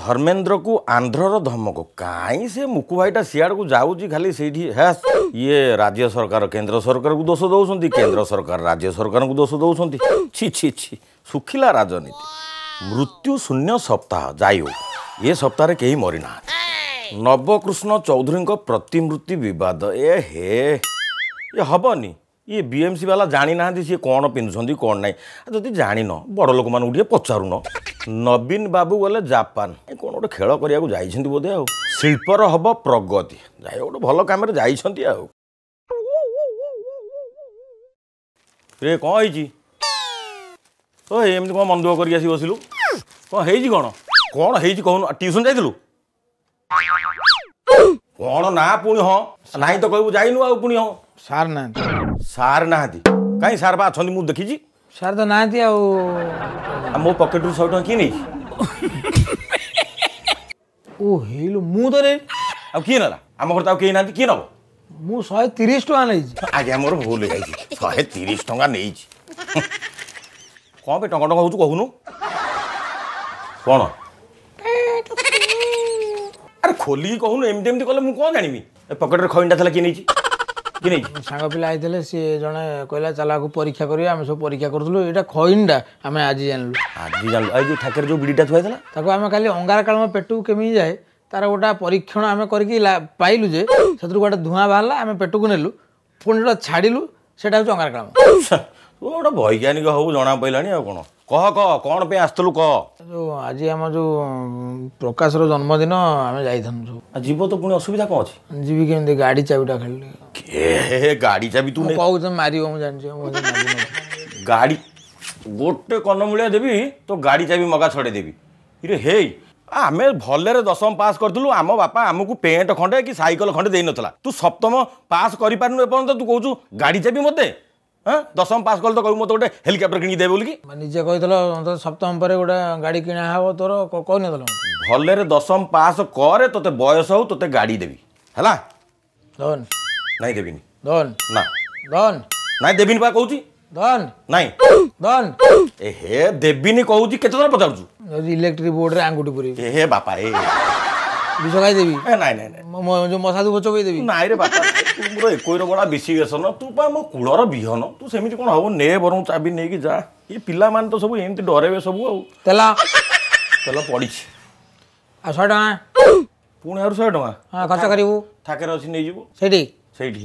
ଧର୍ମେନ୍ଦ୍ରକୁ ଆନ୍ଧ୍ରର ଧମକ। କାହିଁ ସେ ମୁକୁ ଭାଇଟା ସିଆଡ଼କୁ ଯାଉଛି ଖାଲି ସେଇଠି। ହେ, ଇଏ ରାଜ୍ୟ ସରକାର କେନ୍ଦ୍ର ସରକାରକୁ ଦୋଷ ଦେଉଛନ୍ତି, କେନ୍ଦ୍ର ସରକାର ରାଜ୍ୟ ସରକାରଙ୍କୁ ଦୋଷ ଦେଉଛନ୍ତି। ଛି ଛି ଛି, ଶୁଖିଲା ରାଜନୀତି। ମୃତ୍ୟୁ ଶୂନ୍ୟ ସପ୍ତାହ, ଯାଇ ହଉ ଏ ସପ୍ତାହରେ କେହି ମରିନାହାନ୍ତି। ନବକୃଷ୍ଣ ଚୌଧୁରୀଙ୍କ ପ୍ରତିମୂର୍ତ୍ତି ବିବାଦ, ଏ ହେ ଏ ହବନି। ଇଏ ବିଏମ୍ସି ବାଲା ଜାଣିନାହାନ୍ତି ସିଏ କ'ଣ ପିନ୍ଧୁଛନ୍ତି କ'ଣ ନାହିଁ। ଯଦି ଜାଣିନ ବଡ଼ ଲୋକମାନଙ୍କୁ ଟିକେ ପଚାରୁନ। ନବୀନ ବାବୁ ଗଲେ ଜାପାନ, ଏ କ'ଣ ଗୋଟେ ଖେଳ କରିବାକୁ ଯାଇଛନ୍ତି ବୋଧେ। ଆଉ ଶିଳ୍ପର ହବ ପ୍ରଗତି, ଯାଇ ଗୋଟେ ଭଲ କାମରେ ଯାଇଛନ୍ତି। ଆଉ ରେ କ'ଣ ହେଇଛି? ଓ ଏମିତି କ'ଣ ମନ ଦୁଃଖ କରିକି ଆସି ବସିଲୁ? କ'ଣ ହେଇଛି? କ'ଣ କ'ଣ ହେଇଛି କହୁନୁ? ଟ୍ୟୁସନ୍ ଯାଇଥିଲୁ କ'ଣ? ନା ପୁଣି ହଁ ନାହିଁ ତ କହିବୁ ଯାଇନୁ ଆଉ ପୁଣି ହଁ। ସାର୍ ନାହାନ୍ତି। ସାର୍ ନାହାନ୍ତି? କାହିଁ, ସାର୍ ବା ଅଛନ୍ତି, ମୁଁ ଦେଖିଛି। ସାର୍ ତ ନାହାନ୍ତି। ଆଉ ମୋ ପକେଟରୁ 100 ଟଙ୍କା କିଏ ନେଇଛି? ଓ ହେଇଲୁ, ମୁଁ ତ ନେଇନି। ଆଉ କିଏ ନେଲା? ଆମ ଘରେ ତ ଆଉ କେହି ନାହାନ୍ତି, କିଏ ନେବ? ମୁଁ 130 ଟଙ୍କା ନେଇଛି। ଆଜ୍ଞା ମୋର ଭୁଲ ହେଇଯାଇଛି, 130 ଟଙ୍କା ନେଇଛି। କ'ଣ ପାଇଁ ଟଙ୍କା ଟଙ୍କା ହଉଛୁ କହୁନୁ କ'ଣ? ଆରେ ଖୋଲିକି କହୁନୁ, ଏମିତି ଏମିତି କଲେ ମୁଁ କ'ଣ ଜାଣିବି? ଏ ପକେଟରେ ଖଇନିଟା ଥିଲା, କିଏ ନେଇଛି? କିଏ ନେଇଛି? ସାଙ୍ଗ ପିଲା ଆଇଥିଲେ, ସିଏ ଜଣେ କହିଲା ଚାଲ ଆକୁ ପରୀକ୍ଷା କରିବା। ଆମେ ସବୁ ପରୀକ୍ଷା କରୁଥିଲୁ, ଏଇଟା ଖଇନିଟା ଆମେ ଆଜି ଜାଣିଲୁ। ଆଜି ଜାଣିଲୁ? ଏଇ ଯୋଉ ଠାକରେ ଯୋଉ ବିଡ଼ିଟା ଥୁଆ ହେଇଥିଲା ତାକୁ ଆମେ କାଲି ଅଙ୍ଗାରକାମ୍ଳ ପେଟକୁ କେମିତି ଯାଏ ତାର ଗୋଟେ ପରୀକ୍ଷଣ ଆମେ କରିକି ପାଇଲୁ ଯେ ସେଥିରୁ ଗୋଟେ ଧୂଆଁ ବାହାରିଲା, ଆମେ ପେଟକୁ ନେଲୁ, ପୁଣି ଯୋଉଟା ଛାଡ଼ିଲୁ ସେଇଟା ହେଉଛି ଅଙ୍ଗାରକାମ୍ଳ। ତୁ ଗୋଟେ ବୈଜ୍ଞାନିକ ହବୁ ଜଣା ପଡ଼ିଲାଣି। ଆଉ କ'ଣ କହ, କହ କ'ଣ ପାଇଁ ଆସିଥିଲୁ କହ। ଯୋଉ ଆଜି ଆମ ଯୋଉ ପ୍ରକାଶର ଜନ୍ମଦିନ, ଆମେ ଯାଇଥାନ୍ତୁ ସବୁ। ଯିବ ତ, ପୁଣି ଅସୁବିଧା କ'ଣ ଅଛି? ଯିବି କେମିତି, ଗାଡ଼ି ଚାବିଟା ଖାଲି। ଏ ଗାଡ଼ି ଚାବି ତୁ କହୁଛୁ ମାରିବ, ମୁଁ ଜାଣିଛି। ଗାଡ଼ି ଗୋଟେ କନମୂଳିଆ ଦେବି, ତୋ ଗାଡ଼ି ଚାବି ମଗା ଛଡ଼େଇ ଦେବି। ଇରେ ହେଇ, ଆମେ ଭଲରେ ଦଶମ ପାସ୍ କରିଥିଲୁ, ଆମ ବାପା ଆମକୁ ପେଣ୍ଟ ଖଣ୍ଡେ କି ସାଇକେଲ ଖଣ୍ଡେ ଦେଇନଥିଲା। ତୁ ସପ୍ତମ ପାସ୍ କରିପାରିନୁ ଏପର୍ଯ୍ୟନ୍ତ, ତୁ କହୁଛୁ ଗାଡ଼ି ଚାବି ମୋତେ? ହଁ, ଦଶମ ପାସ୍ କଲେ ତ କହିବୁ ମୋତେ ଗୋଟେ ହେଲିକପ୍ଟର କିଣିକି ଦେବେ ବୋଲିକି। ନିଜେ କହିଥିଲ ସପ୍ତମ ପରେ ଗୋଟେ ଗାଡ଼ି କିଣା ହବ ତୋର, କହିନଥିଲ? ଭଲରେ ଦଶମ ପାସ୍ କରେ, ତୋତେ ବୟସ ହଉ, ତୋତେ ଗାଡ଼ି ଦେବି। ହେଲା? ଧନ ନାଇଁ ଦେବିନି। ଧନ ନା। ଧନ ନାଇଁ ଦେବିନି ବା କହୁଛି। ଧନ ନାଇଁ। ଧନ। ଏ ହେ, ଦେବିନି କହୁଛି, କେତେ ଥର ପଚାରୁଛୁ? ଇଲେକ୍ଟ୍ରିକ ବୋର୍ଡରେ ଆଙ୍ଗୁଠି ପୁରେଇବି। ଏ ହେ ବାପା, ଏ ବିଷ ଖାଇଦେବି। ନାଇଁ ନାଇଁ ନାଇଁ, ଯୋଉ ମଶା ଧୂପ ଚୋବେଇ ଦେବି। ନାଇଁ ରେ ବାପା, ତୁ ମୋର ଏକୋଇର ବଡ଼ା ବିଶି ବେସନ, ତୁ ପା ମୋ କୂଳର ବିହନ, ତୁ ସେମିତି କ'ଣ ହବ? ନେ ବରଂ ଚାବି ନେଇକି ଯା। ଏ ପିଲାମାନେ ତ ସବୁ ଏମିତି ଡରେଇବେ ସବୁ। ଆଉ ତେଲ? ତେଲ ପଡ଼ିଛି। ଆଉ 100 ଟଙ୍କା। ପୁଣି ଆହୁରି 100 ଟଙ୍କା? ହଁ, ଖର୍ଚ୍ଚ କରିବୁ। ଥାକରେ ଅଛି, ନେଇଯିବୁ। ସେଇଠି? ସେଇଠି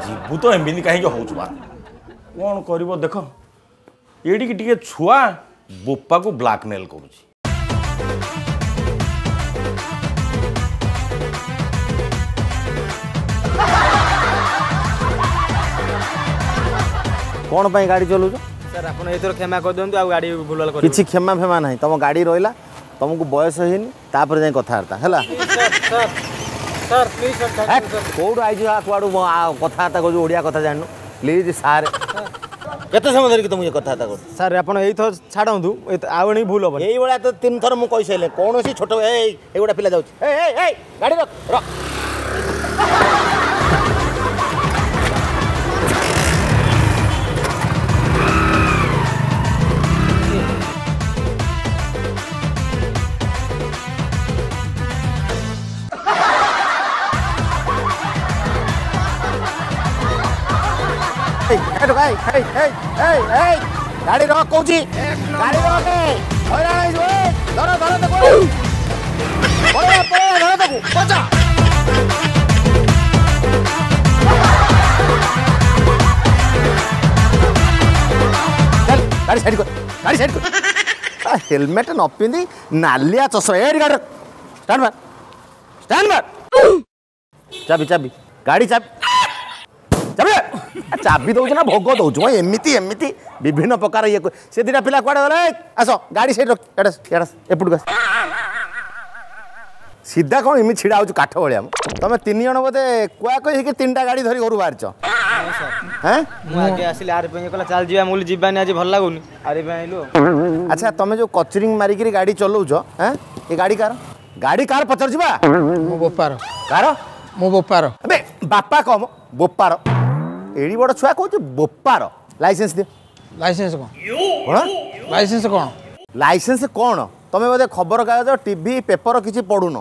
ଯିବୁ ତ, ଏମିତି କାହିଁକି ହଉଛୁ ବା? କ'ଣ କରିବ ଦେଖ, ଏଇଠିକି ଟିକେ ଛୁଆ ବୋପାକୁ ବ୍ଲାକମେଲ କରୁଛି। କ'ଣ ପାଇଁ ଗାଡ଼ି ଚଲାଉଛ? ସାର୍ ଆପଣ ଏଥର କ୍ଷମା କରିଦିଅନ୍ତୁ, ଆଉ ଗାଡ଼ି ଭୁଲ କିଛି କ୍ଷମା ଫେମା ନାହିଁ। ତମ ଗାଡ଼ି ରହିଲା, ତମକୁ ବୟସ ହେଇନି, ତାପରେ ଯାଇ କଥାବାର୍ତ୍ତା ହେଲା। କୋଉଠୁ ଆଇଛୁ, କୁଆଡ଼ୁ କଥାବାର୍ତ୍ତା କହୁଛୁ? ଓଡ଼ିଆ କଥା ଜାଣିନୁ? ପ୍ଲିଜ୍ ସାର୍, କେତେ ସମୟ ଧରିକି ତମକୁ କଥାବାର୍ତ୍ତା କରୁଛୁ? ସାର୍ ଆପଣ ଏଇଥର ଛାଡ଼ନ୍ତୁ, ଆଉ ଏଣିକି ଭୁଲ ହବନି। ଏଇଭଳିଆ ତ 3 ଥର ମୁଁ କହିସାରିଲେ। କୌଣସି ଛୋଟ ଏଇ ଏଇଗୁଡ଼ା ପିଲା ଯାଉଛି। ଏଇ ଏଇ, ଗାଡ଼ି ରଖ ରଖ। ଗାଡ଼ି ରଖ କହୁଛି, ଗାଡ଼ି ରଖ, ହଇରାଣ ହେଇଯିବ। ଧର ଧର ତାକୁ, ପଳେଇବା ପଳେଇବା, ଧର ତାକୁ, ବଚା। ଗାଡ଼ି ସାଇଡ୍ କର, ଗାଡ଼ି ସାଇଡ୍ କର। ହେଲମେଟ୍ ନ ପିନ୍ଧି ନାଲିଆ ଚଷମା। ଏଇଠି ଗାଡ଼ି ଷ୍ଟାଣ୍ଡ ମାର, ଷ୍ଟାଣ୍ଡ ମାର। ଚାବି ଚାବି, ଗାଡ଼ି ଚାବି ଚାବି। ଚାବି ଦଉଛୁ ନା ଭୋଗ ଦଉଛୁ? ଏମିତି ଏମିତି ବିଭିନ୍ନ ପ୍ରକାର ଇଏ। ସେ 2ଟା ପିଲା କୁଆଡ଼େ ଗଲେ? ଆସ, ଗାଡ଼ି ସେଇଠି ରଖ। ଏଇଟା ଏଇଟା, ଏପଟକୁ ଆସ ସିଧା। କ'ଣ ଏମିତି ଛିଡ଼ା ହଉଛୁ କାଠ ଭଳିଆ? ତମେ 3 ଜଣ ବୋଧେ କୁଆ କହି ହେଇକି 3ଟା ଗାଡ଼ି ଧରି ଘରୁ ବାହାରିଛ? ମୁଁ ଆଗେ ଆସିଲି, ଆରି ପାଇଁ କହିଲା ଚାଲ ଯିବା, ମୁଁ ଯିବାନି ଆଜି ଭଲ ଲାଗୁନି, ଆରି ପାଇଁ ଆଇଲୁ। ଆଚ୍ଛା, ତମେ ଯୋଉ କଚରିଂ ମାରିକିରି ଗାଡ଼ି ଚଲଉଛ, ଏ ଗାଡ଼ି କାର? ଗାଡ଼ି କାର ପଚାରୁଛି ବା। ମୋ ବୋପାର। କାର? ମୋ ବୋପାର। ଆବେ ବାପା କମ, ବୋପାର। ଏଡ଼ି ବଡ଼ ଛୁଆ କହୁଛି ବୋପାର ଲାଇସେନ୍ସ ଦିଅ। ଲାଇସେନ୍ସ କ'ଣ? କ'ଣ ଲାଇସେନ୍ସ କ'ଣ? ଲାଇସେନ୍ସ କ'ଣ? ତମେ ବୋଧେ ଖବରକାଗଜ, ଟିଭି, ପେପର କିଛି ପଢ଼ୁନ।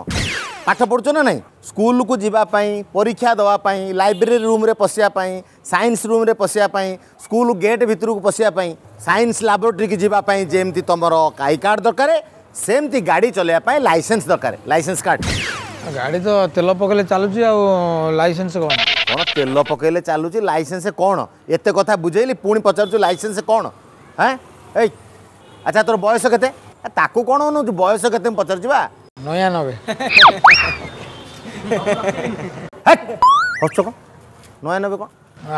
ପାଠ ପଢ଼ୁଛ ନା ନାହିଁ? ସ୍କୁଲକୁ ଯିବା ପାଇଁ, ପରୀକ୍ଷା ଦେବା ପାଇଁ, ଲାଇବ୍ରେରୀ ରୁମ୍ରେ ପଶିବା ପାଇଁ, ସାଇନ୍ସ ରୁମ୍ରେ ପଶିବା ପାଇଁ, ସ୍କୁଲ ଗେଟ୍ ଭିତରକୁ ପଶିବା ପାଇଁ, ସାଇନ୍ସ ଲାବୋରେଟୋରୀକି ଯିବା ପାଇଁ ଯେମିତି ତମର I card ଦରକାର, ସେମିତି ଗାଡ଼ି ଚଲେଇବା ପାଇଁ ଲାଇସେନ୍ସ ଦରକାର। Licence card. ଗାଡ଼ି ତ ତେଲ ପକେଇଲେ ଚାଲୁଛି, ଆଉ ଲାଇସେନ୍ସ କ'ଣ? କ'ଣ ତେଲ ପକେଇଲେ ଚାଲୁଛି? ଲାଇସେନ୍ସ କ'ଣ? ଏତେ କଥା ବୁଝେଇଲି, ପୁଣି ପଚାରୁଛୁ ଲାଇସେନ୍ସ କ'ଣ? ହେଁ, ଏଇ ଆଚ୍ଛା, ତୋର ବୟସ କେତେ? ତାକୁ କ'ଣ ଅନଉଛୁ? ବୟସ କେତେ ମୁଁ ପଚାରୁଛି ବା। 99। ହସୁଛ କ'ଣ? 99 କ'ଣ?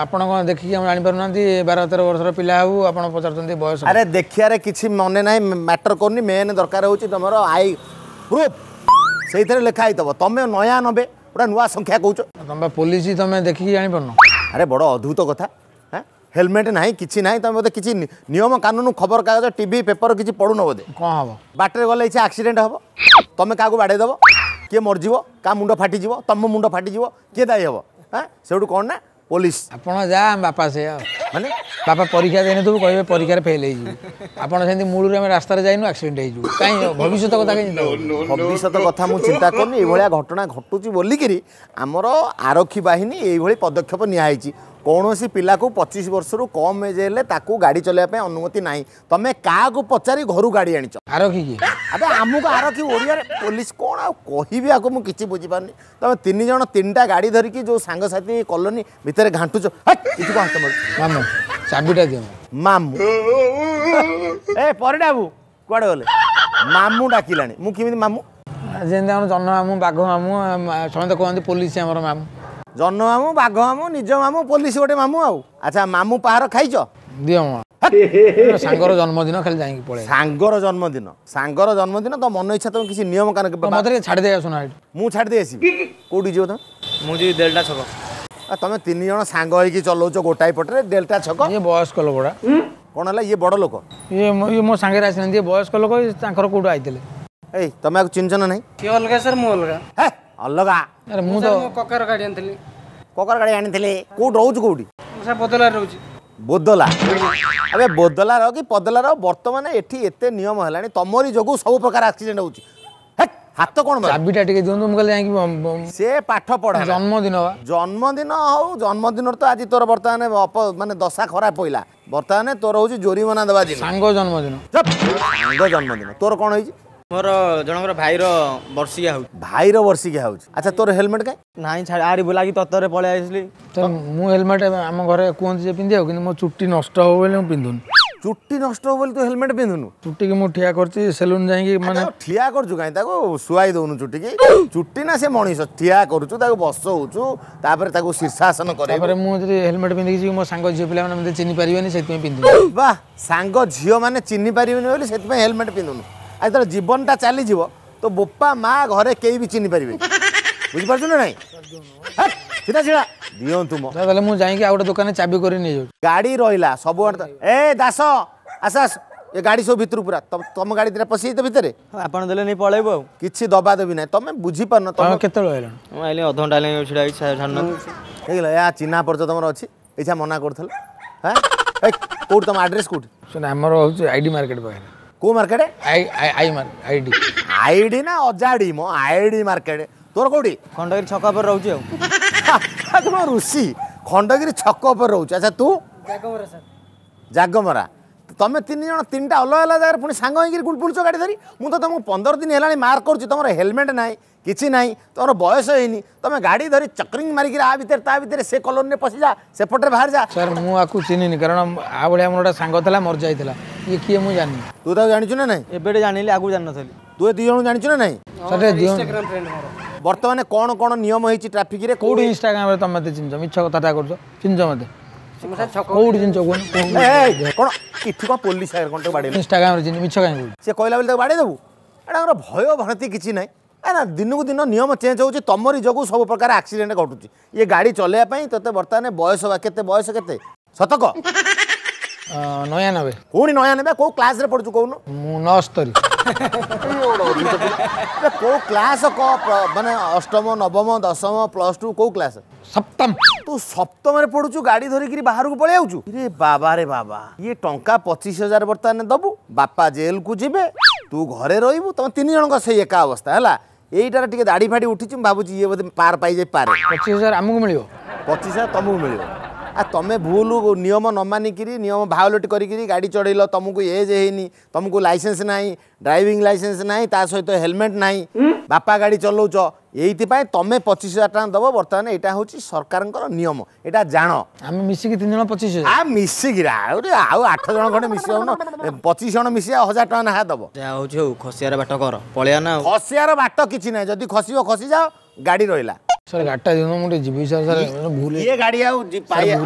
ଆପଣ କ'ଣ ଦେଖିକି ଆମେ ଜାଣିପାରୁନାହାନ୍ତି? 12 13 ବର୍ଷର ପିଲା ହେବୁ, ଆପଣ ପଚାରୁଛନ୍ତି ବୟସ। ଆରେ ଦେଖିବାରେ କିଛି ମନେ ନାହିଁ, ମ୍ୟାଟର କରୁନି। ମେନ୍ ଦରକାର ହେଉଛି ତମର I proof, ସେଇଥିରେ ଲେଖା ହେଇଥିବ। ତମେ 99 ଗୋଟେ ନୂଆ ସଂଖ୍ୟା କହୁଛ। ତମେ ପୋଲିସ, ତମେ ଦେଖିକି ଜାଣିପାରୁନ? ଆରେ ବଡ଼ ଅଦ୍ଭୁତ କଥା। ହଁ, ହେଲମେଟ୍ ନାହିଁ, କିଛି ନାହିଁ। ତମେ ବୋଧେ କିଛି ନିୟମ କାନୁନ, ଖବରକାଗଜ, ଟିଭି, ପେପର କିଛି ପଢ଼ୁନ ବୋଧେ। କ'ଣ ହବ? ବାଟରେ ଗଲେ କିଛି ଆକ୍ସିଡେଣ୍ଟ ହବ, ତମେ କାହାକୁ ବାଡ଼େଇ ଦେବ, କିଏ ମରିଯିବ, କାହା ମୁଣ୍ଡ ଫାଟିଯିବ, ତମ ମୁଣ୍ଡ ଫାଟିଯିବ, କିଏ ଦାୟୀ ହେବ? ହଁ, ସେଇଠୁ କ'ଣ ନା ପୋଲିସ। ଆପଣ ଯା ବାପା ସେଇଆ। ମାନେ ବାପା ପରୀକ୍ଷା ଦେଇନଥିବୁ, କହିବେ ପରୀକ୍ଷାରେ ଫେଲ୍ ହେଇଯିବୁ। ଆପଣ ସେମିତି ମୂଳରୁ ଆମେ ରାସ୍ତାରେ ଯାଇନୁ, ଆକ୍ସିଡେଣ୍ଟ ହେଇଯିବୁ। କାହିଁ ଭବିଷ୍ୟତ କଥା କାହିଁ ଚିନ୍ତା କରୁଛନ୍ତି? ଭବିଷ୍ୟତ କଥା ମୁଁ ଚିନ୍ତା କରୁନି। ଏଇଭଳିଆ ଘଟଣା ଘଟୁଛି ବୋଲିକିରି ଆମର ଆରକ୍ଷୀ ବାହିନୀ ଏଇଭଳି ପଦକ୍ଷେପ ନିଆହେଇଛି। କୌଣସି ପିଲାକୁ 25 ବର୍ଷରୁ କମ୍ ଏଜ୍ ହେଲେ ତାକୁ ଗାଡ଼ି ଚଲେଇବା ପାଇଁ ଅନୁମତି ନାହିଁ। ତମେ କାହାକୁ ପଚାରି ଘରୁ ଗାଡ଼ି ଆଣିଛ? ଆରକ୍ଷୀ କିଏ? ଆବେ ଆମକୁ ଆରକ୍ଷୀ, ଓଡ଼ିଆରେ ପୋଲିସ। କ'ଣ ଆଉ କହିବି ଆକୁ, ମୁଁ କିଛି ବୁଝିପାରୁନି। ତମେ ତିନି ଜଣ ତିନିଟା ଗାଡ଼ି ଧରିକି ଯେଉଁ ସାଙ୍ଗସାଥି କଲୋନୀ ଭିତରେ ଘାଣ୍ଟୁଛ, କିଛି କଣ ହାତ ମାରୁଛ? ମାମୁଁ, ଚାବିଟା ଦିଅ। ମାମୁଁ, ଏ ପରିଡ଼ା ବାବୁ କୁଆଡ଼େ ଗଲେ? ମାମୁଁ ଡାକିଲାଣି, ମୁଁ କେମିତି ମାମୁଁ? ଯେମିତି ଆମର ଜହ୍ନ ମାମୁଁ, ବାଘ ମାମୁଁ, ସମସ୍ତେ କୁହନ୍ତି ପୋଲିସ ଆମର ମାମୁଁ। ଜହ୍ନ ମାମୁଁ, ବାଘ ମାମୁଁ, ନିଜ ମାମୁଁ, ପୋଲିସ ଗୋଟେ ମାମୁଁ। ଆଉ ଆଚ୍ଛା, ମାମୁଁ ପାହାର ଖାଇଛ? ଦିଅ, ସାଙ୍ଗର ଜନ୍ମଦିନ, ଖାଲି ଯାଇକି ପଳେଇ। ସାଙ୍ଗର ଜନ୍ମଦିନ, ସାଙ୍ଗର ଜନ୍ମଦିନ, ତ ମନ ଇଚ୍ଛା ତମେ କିଛି ନିୟମ କାନ। ମତେ ଟିକେ ଛାଡ଼ି ଦେଇ ଆସୁନା ଏଠି। ମୁଁ ଛାଡ଼ି ଦେଇ ଆସିବି? କୋଉଠି ଯିବ ତମେ? ମୁଁ ଯିବି ଡେଲ୍ଟା ଛକ। ତମେ ତିନି ଜଣ ସାଙ୍ଗ ହେଇକି ଚଲଉଛ ଗୋଟାଏ ପଟରେ, ଡେଲ୍ଟା ଛକ। ଇଏ ବୟସ୍କ ଲୋକଟା। କ'ଣ ହେଲା? ଇଏ ବଡ଼ ଲୋକ, ଇଏ ମୋ ସାଙ୍ଗରେ ଆସିନାହାନ୍ତି। ଇଏ ବୟସ୍କ ଲୋକ, ତାଙ୍କର କୋଉଠୁ ଆଇଥିଲେ। ଏଇ ତମେ ଆକୁ ଚିହ୍ନିଛ ନା ନାହିଁ? ସିଏ ଅଲଗା ସାର୍, ମୁଁ ଅଲଗା। ହେ ଅଲଗା? ଆରେ ମୁଁ ତ କକାର ଗାଡ଼ି ଆଣିଥିଲି। କକାର ଗାଡ଼ି ଆଣିଥିଲେ? କୋଉଠି ରହୁଛୁ, କୋଉଠି? ମୁଁ ସାର୍ ବଦଲାରେ ରହୁଛି। ବୋଦଲା? ଆବେ ବୋଦଲା ରହ କି ପଦଲା ରହ, ବର୍ତ୍ତମାନ ଏଠି ଏତେ ନିୟମ ହେଲାଣି, ତମରି ଯୋଗୁଁ ସବୁ ପ୍ରକାର ଆକ୍ସିଡେଣ୍ଟ ହେଉଛି। ହାତ କ'ଣ? ଚାବିଟା ଟିକେ ଦିଅନ୍ତୁ, ମୁଁ କାଲି ଯାଇକି। ସେ ପାଠ ପଢା, ଜନ୍ମଦିନ ବା। ଜନ୍ମଦିନ ହଉ, ଜନ୍ମଦିନରେ ତ ଆଜି ତୋର ବର୍ତ୍ତମାନ ମାନେ ଦଶା ଖରାପ ପଇଲା। ବର୍ତ୍ତମାନ ତୋର ହଉଛି ଜୋରିମନା ଦେବା ଦିନ। ସାଙ୍ଗ ଜନ୍ମଦିନ। ସାଙ୍ଗ ଜନ୍ମଦିନ। ତୋର କ'ଣ ହେଇଛି? ମୋର ଜଣଙ୍କର ଭାଇର ବର୍ଷିକିଆ ହେଉଛି। ଭାଇର ବର୍ଷିକିଆ ହେଉଛି। ଆଚ୍ଛା, ତୋର ହେଲମେଟ୍ କାଇଁ ନାହିଁ? ଛାଡ଼ି ଆରି ବୁଲାକି ତତରେ ପଳେଇ ଆସିଲି। ତ ମୁଁ ହେଲମେଟ୍ ଆମ ଘରେ କୁହନ୍ତି ଯେ ପିନ୍ଧିବାକୁ, କିନ୍ତୁ ମୋ ଚୁଟି ନଷ୍ଟ ହବ ବୋଲି ମୁଁ ପିନ୍ଧୁନି। ଚୁଟି ନଷ୍ଟ ହବ ବୋଲି ତୁ ହେଲମେଟ୍ ପିନ୍ଧୁନୁ? ଚୁଟିକି ମୁଁ ଠିଆ କରିଛି ସେଲୁନ୍ ଯାଇକି। ମାନେ ଠିଆ କରୁଛୁ କାହିଁ? ତାକୁ ଶୁଆଇ ଦଉନୁ ଚୁଟିକି? ଚୁଟି ନା ସେ ମଣିଷ? ଠିଆ କରୁଛୁ, ତାକୁ ବସଉଛୁ, ତାପରେ ତାକୁ ଶୀର୍ଷାସନ କରେ। ତାପରେ ମୁଁ ଯଦି ହେଲମେଟ୍ ପିନ୍ଧିକି ଯିବି, ମୋ ସାଙ୍ଗ ଝିଅ ପିଲାମାନେ ମୋତେ ଚିହ୍ନି ପାରିବେନି, ସେଥିପାଇଁ ପିନ୍ଧୁନି। ବାহ, ସାଙ୍ଗ ଝିଅମାନେ ଚିହ୍ନି ପାରିବେନି ବୋଲି ସେଥିପାଇଁ ହେଲମେଟ୍ ପିନ୍ଧୁନୁ। ଆଉ ଯେତେବେଳେ ଜୀବନଟା ଚାଲିଯିବ, ତୋ ବୋପା ମା ଘରେ କେହି ବି ଚିହ୍ନି ପାରିବେନି, ବୁଝିପାରୁଛୁ ନା ନାଇଁ? ସିଧା ସିଧା ଦିଅନ୍ତୁ ମୋ। ତାହେଲେ ମୁଁ ଯାଇକି ଆଉ ଗୋଟେ ଦୋକାନରେ ଚାବି କରି ନେଇଯାଉଛି। ଗାଡ଼ି ରହିଲା ସବୁ। ଏ ଦାସ, ଆସ ଆସ, ଏ ଗାଡ଼ି ସବୁ ଭିତରୁ ପୁରା ତମ ଗାଡ଼ି ଦିଟା ପଶିଯାଇଛି ତ ଭିତରେ। ଆପଣ ଦେଲେ ନେଇ ପଳେଇବୁ, ଆଉ କିଛି ଦବା ଦେବି ନାହିଁ। ତମେ ବୁଝିପାରୁନ। ତମେ କେତେବେଳେ ଆଇଲଣି? ମୁଁ ଆଇଲି ଅଧଘଣ୍ଟା ହେଲାଣି, ଛିଡ଼ା ହେଇଛି, ଛାଡ଼ୁନାହାନ୍ତି। ହେଇଗଲା, ଏହା ଚିହ୍ନା ପରିଚୟ ତମର ଅଛି, ଇଚ୍ଛା ମନା କରୁଥିଲ। ହଁ, କୋଉଠି ତମ ଆଡ୍ରେସ୍ କୋଉଠି? ଆମର ହେଉଛି ଆଇଡି ମାର୍କେଟ ପାଖରେ। କୋଉ market? I I market, ID. ID ନା ଅଜାଡି ମୋ? ID market. ତୋର କୋଉଠି? ଖଣ୍ଡଗିରି ଛକ ଉପରେ ରହୁଛି। ଆଉ ତୁମ ଋଷି ଖଣ୍ଡଗିରି ଛକ ଉପରେ ରହୁଛି। ଆଚ୍ଛା, ତୁ? ଜାଗମରା ସାର୍। ଜାଗମରା। ତମେ ତିନି ଜଣ ତିନିଟା ଅଲଗା ଅଲଗା ଜାଗାରେ ପୁଣି ସାଙ୍ଗ ହେଇକିରି ବୁଲୁଛ ଗାଡ଼ି ଧରି। ମୁଁ ତ ତମକୁ 15 ଦିନ ହେଲାଣି ମାର୍କ କରୁଛି। ତମର ହେଲମେଟ୍ ନାହିଁ, କିଛି ନାହିଁ, ତମର ବୟସ ହେଇନି, ତମେ ଗାଡ଼ି ଧରି ଚକ୍ରିଂ ମାରିକିରି ଆ ଭିତରେ ତା ଭିତରେ, ସେ କଲୋନୀରେ ପଶିଯା, ସେପଟରେ ବାହାରି ଯା। ସାର୍, ମୁଁ ଆକୁ ଚିହ୍ନିନି, କାରଣ ଆ ଭଳିଆ ମୋର ଗୋଟେ ସାଙ୍ଗ ଥିଲା, ମରିଯାଇଥିଲା। ଇଏ କିଏ ମୁଁ ଜାଣିନି। ତୁ ତାକୁ ଜାଣିଛୁ ନା ନାହିଁ? ଏବେ ଜାଣିଲି, ଆଗରୁ ଜାଣିନଥିଲି। ତୁ ଏ ଦି ଜଣ ଜାଣିଛୁ ନା ନାହିଁ? ସାର୍, ଇନଷ୍ଟାଗ୍ରାମ ଫ୍ରେଣ୍ଡ ମୋର। ବର୍ତ୍ତମାନ କ'ଣ କ'ଣ ନିୟମ ହେଇଛି ଟ୍ରାଫିକରେ? କୋଉଠି ଇନଷ୍ଟାଗ୍ରାମରେ ତମେ ମତେ ଚିହ୍ନିଛ? ମିଛ କଥାଟା କରୁଛ। ଚିହ୍ନିଛ ମତେ? କୋଉଠି ଚିହ୍ନିଛ କୁହନି? କ'ଣ ଏଠି କ'ଣ ପୋଲିସ ଆଗରେ କ'ଣ ତାକୁ ବାଡ଼େଇଲୁ? ଇନଷ୍ଟାଗ୍ରାମରେ ଚିହ୍ନି ମିଛ କାହିଁ କହୁଛୁ? ସେ କହିଲା ବୋଲି ତାକୁ ବାଡ଼େଇ ଦେବୁ? ଏଇଟା ଆମର ଭୟ ଭ୍ରାନ୍ତି କିଛି ନାହିଁ ନା? ଦିନକୁ ଦିନ ନିୟମ ଚେଞ୍ଜ ହେଉଛି, ତମରି ଯୋଗୁଁ ସବୁ ପ୍ରକାର ଆକ୍ସିଡେଣ୍ଟ ଘଟୁଛି। ଇଏ ଗାଡ଼ି ଚଲେଇବା ପାଇଁ ତୋତେ ବର୍ତ୍ତମାନ ବୟସ ବା କେତେ? ବୟସ କେତେ? ଶତକ 99। ପୁଣି 99? କୋଉ କ୍ଲାସରେ ପଢୁଛୁ କହୁନୁ? ମୁଁ 69। କୋଉ କ୍ଲାସ ମାନେ ଅଷ୍ଟମ ନବମ ଦଶମ ପ୍ଲସ ଟୁ କୋଉ କ୍ଲାସ? ସପ୍ତମ। ତୁ ସପ୍ତମରେ ପଢୁଛୁ, ଗାଡ଼ି ଧରିକିରି ବାହାରକୁ ପଳେଇ ଆଉଛୁ? ରେ ବାବା ରେ ବାବା, ଇଏ ଟଙ୍କା 25,000 ବର୍ତ୍ତମାନ ଦବୁ, ବାପା ଜେଲକୁ ଯିବେ, ତୁ ଘରେ ରହିବୁ, ତମ ତିନି ଜଣଙ୍କ ସେଇ ଏକା ଅବସ୍ଥା ହେଲା। ଏଇଟାର ଟିକେ ଦାଢ଼ି ଫାଡ଼ି ଉଠିଛି, ମୁଁ ଭାବୁଛି ଇଏ ବୋଧେ ପାର ପାଇଯାଇପାରେ। 25,000 ଆମକୁ ମିଳିବ? 25,000 ତମକୁ ମିଳିବ। ଆ ତମେ ଭୁଲ ନିୟମ ନ ମାନିକିରି, ନିୟମ ଭାয়োଲେଟ୍ କରିକିରି ଗାଡ଼ି ଚଢ଼େଇଲ, ତମକୁ ଏଜ୍ ହେଇନି, ତମକୁ ଲାଇସେନ୍ସ ନାହିଁ, ଡ୍ରାଇଭିଂ ଲାଇସେନ୍ସ ନାହିଁ, ତା ସହିତ ହେଲମେଟ୍ ନାହିଁ, ବାପା ଗାଡ଼ି ଚଲାଉଛ, ଏଇଥିପାଇଁ ତମେ 25,000 ଟଙ୍କା ଦବ। ବର୍ତ୍ତମାନ ଏଇଟା ହେଉଛି ସରକାରଙ୍କର ନିୟମ, ଏଇଟା ଜାଣ। ଆମେ ମିଶିକି 3 ଜଣ 25,000? ଆ ମିଶିକିରି ଆହୁରି ଆଉ 8 ଜଣ ଖଣ୍ଡେ ମିଶି ଯାଉନ, 25 ଜଣ ମିଶି 1,000 ଟଙ୍କା ଲେଖା ଦବ। ଯାହା ହଉଛି ହଉ, ଖସିବାର ବାଟ କର, ପଳେଇବା ନା। ଖସିବାର ବାଟ କିଛି ନାହିଁ, ଯଦି ଖସିବ ଖସିଯାଅ, ଗାଡ଼ି ରହିଲା। ସାର୍ ଗାଡ଼ିଟା ଦିଅନ୍ତୁ, ମୁଁ ଟିକେ ଯିବି ସାର୍। ସାର୍ ଭୁଲ ଇଏ ଗାଡ଼ି ଆଉ